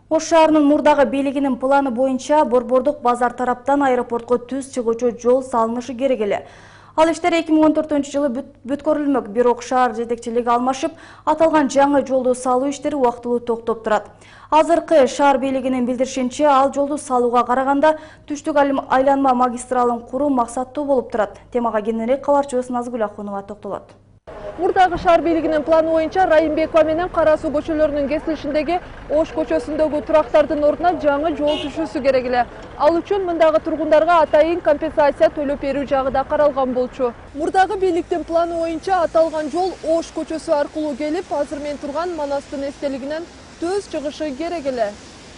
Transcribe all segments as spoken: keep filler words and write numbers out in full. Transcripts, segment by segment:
Ош шаарынын мурдагы бийлигинин планы боюнча Борбордук базар тараптан аэропортко түз чыгуучу жол салынышы керек эле. Ал иштер эки миң он төртүнчү жылы бүткөрүлмөк, бирок шаар жетекчилиги алмашып, аталган жаңы жолду салуу иштери убактылуу токтоп турат. Азыркы шаар бийлигинин билдиришинче, ал жолду салууга караганда түштүк айланма магистралын куруу максаттуу болуп турат. Темага кененирээк кабарчыбыз Назгүл Ахунова токтолот. Мурдагы шаар бийлигинин планы боюнча Райымбекова менен Кара суу көчөлөрүнүн кесилишиндеги Ош көчөсүндөгү турактардын ордуна жаңы жол түшүүсү керек эле. Ал үчүн мындагы тургундарга атайын компенсация төлөп берүү жагы да каралган болчу. Мурдагы бийликтин планы боюнча аталган жол Ош көчөсү аркылуу келип, азыр мен турган Манастын эстелигинен түз чыгышы керек эле.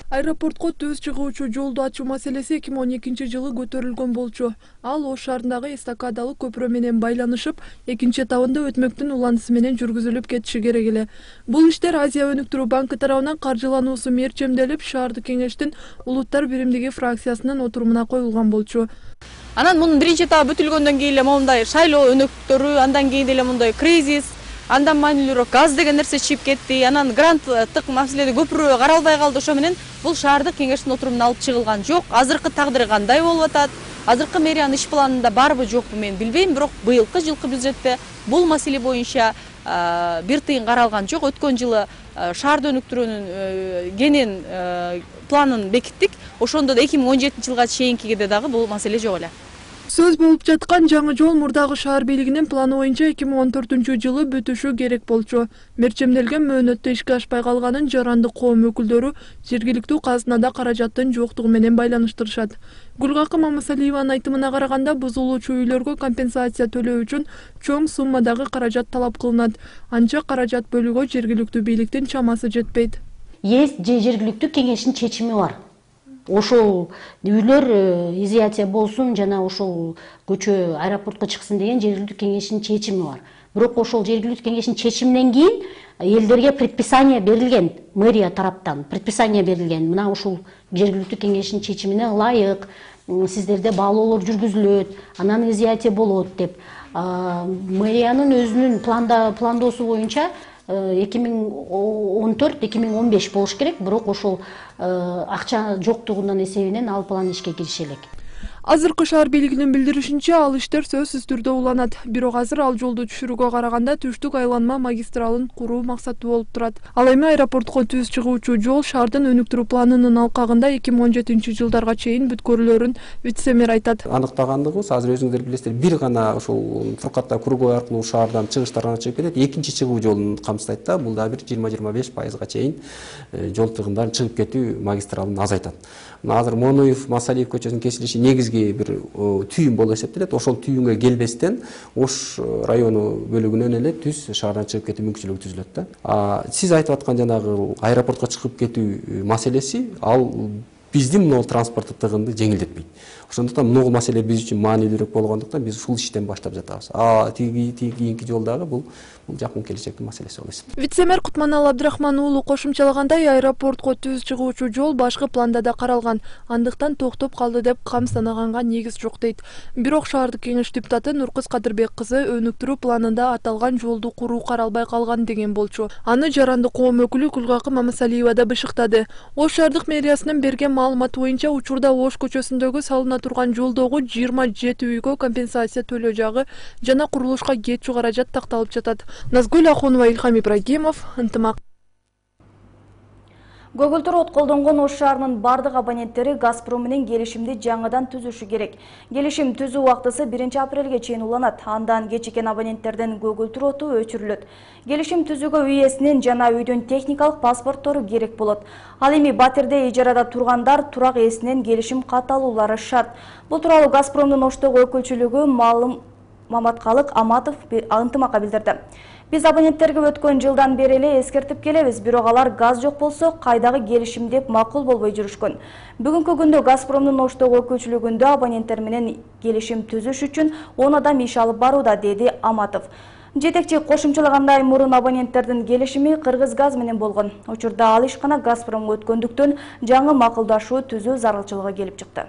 Аэропортко түз чыгуучу жолду ачуу маселеси эки миң он экинчи жылы көтөрүлгөн болчу. Ал Ош шаарындагы эстакадалык көпүрө менен байланышып, экинчи этабында өтмөктүн уланысы менен жүргүзүлүп кетиши керек эле. Бул иштер Азия өнүктүрүү банкы тарабынан каржылануусу мерчемделип, шаардык кеңештин улуттар биримдиги фракциясынын отурумуна коюлган болчу. Анан мунун биринчи этабы бүтүлгөндөн кийин эле моундай шайлоо өнөктөрү, андан кийин деле мындай кризис, андан маанилүүрөөк газ деген нерсе чыгып кетти. Анан гранттык маселеде көпүрө каралбай калды. Ошо менен бул шаардык кеңештин отурумуна алып чыгылган жок. Азыркы тагдыры кандай болуп атат? Азыркы мэриянын иш планында барбы жокпу мен билбейм, бирок быйылкы жылкы бюджетте бул маселе боюнча бир тыйын каралган жок. Өткөн жылы шаарды өнүктүрүүнүн кенен планын бекиттик. Ошондо да эки миң он жетинчи жылга чейинкиде дагы бул маселе жок эле. Сөз болуп жаткан жаңы жол мурдагы шаар бийлигинин планы боюнча эки миң он төртүнчү жылы бүтүшү керек болчу. Мерчемделген мөөнөттө ишке ашпай калганын жарандык коом өкүлдөрү жергиликтүү казынада каражаттын жоктугу менен байланыштырышат. Гүлгакы Мамасалиеванын айтымына караганда, бузулуучу үйлөргө компенсация төлөө үчүн чоң суммадагы каражат талап кылынат. Анча каражат бөлүүгө жергиликтүү бийликтин чамасы жетпейт. Есть же жергиликтүү кеңештин чечими бар. Ошол үйлөр изоляция болсун жана ошол көчө аэропортко чыксын деген жергиликтүү кеңештин чечими бар. Бирок ошол жергиликтүү кеңештин чечиминен кийин элдерге предписание берилген, мэрия тараптан предписание берилген. Мына ушул жергиликтүү кеңештин чечимине ылайык сиздерде баалоолор жүргүзүлөт, анан изоляция болот деп. Мэриянын өзүнүн планда пландоосу боюнча эки миң он төрт эки миң он беш болуш керек, бирок ошол акча жоктугунан эсебинен ал план ишке кириши элек. Азыркы шаар бийлигинин билдиришинче, ал иштер сөзсүз түрдө уланат. Бирок азыр ал жолду түшүрүүгө караганда түштүк айланма магистралын куруу максаттуу болуп турат. Ал эми аэропортко түз чыгуучу жол шаардын өнүктүрүү планынын алкагында эки миң он жетинчи жылдарга чейин бүткөрүлөрүн вице-мэр айтат. Аныктагандыгыбыз, азыр өзүңүздөр билесиздер, бир гана ушул Фуркатта круговой аркылуу шаардан чыгыштар гана чыгып кетет. Экинчи чыгуу жолун камсыздайт да, бул да бир жыйырма жыйырма беш пайызга чейин жол тыгындарын чыгып кетүү магистралын азайтат. Азыр Моноев, Масалиев көчөсүнүн кесилиши негизги бир түйүн болуп эсептелет. Ошол түйүнгө келбестен Ош району бөлүгүнөн эле түз шаардан чыгып кетүү мүмкүнчүлүгү түзүлөт да. Сиз айтып аткан жанагы аэропортко чыгып кетүү маселеси, ал биздин могул транспорттук тыгынды жеңилдетпейт. Ошондуктан могул маселе биз үчүн маанилүүрөөк болгондуктан биз ушул иштен баштап жатабыз. А тиги кийинки жолдагы бул бул жакын келечектин маселеси болот. Вице-мэр Кутманал Абдрахман уулу кошумчалагандай, аэропортко түз чыгуучу жол башкы планда да каралган, андыктан токтоп калды деп камсыздаганга негиз жок дейт. Бирок шаардык кеңеш депутаты Нуркыз Кадырбек кызы өнүктүрүү планында аталган жолду куруу каралбай калган деген болчу. Аны жарандык коом өкүлү Гүлгакы Мамасалиева да бышыктады. Ош шаардык мэриясынын берген маалыматы боюнча, учурда Ош көчөсүндөгү салына турган жолдогу жыйырма жети үйгө компенсация төлөө жагы жана курулушка кетчү каражат такталып жатат. Назгүл Ахунова, Илхам Ибрагимов, ынтымак. Көгүлтүр от колдонгон Ош шаарынын бардык абоненттери Газпром менен келишимди жаңыдан түзүшү керек. Келишим түзүү убактысы биринчи апрелге чейин уланат. Андан кечиккен абоненттерден көгүлтүр оту өчүрүлөт. Келишим түзүүгө үй ээсинин жана үйдүн техникалык паспорттору керек болот. Ал эми батирде ижарада тургандар турак ээсинен келишим кат алуулары шарт. Бул тууралуу Газпромдун Оштогу өкүлчүлүгү Маалым Маматкалык Аматов ынтымакка билдирди. Биз абоненттерге өткөн жылдан бери эле эскертип келебиз, бирок алар газ жок болсо кайдагы келишим деп макул болбой жүрүшкөн. Бүгүнкү күндө Газпромдун Оштогу өкүлчүлүгүндө абоненттер менен келишим түзүш үчүн он адам иш алып барууда, деди Аматов. Жетекчи кошумчалагандай, мурун абоненттердин келишими Кыргызгаз менен болгон. Учурда ал ишкана Газпромго өткөндүктөн жаңы макулдашуу түзүү зарылчылыгы келип чыкты.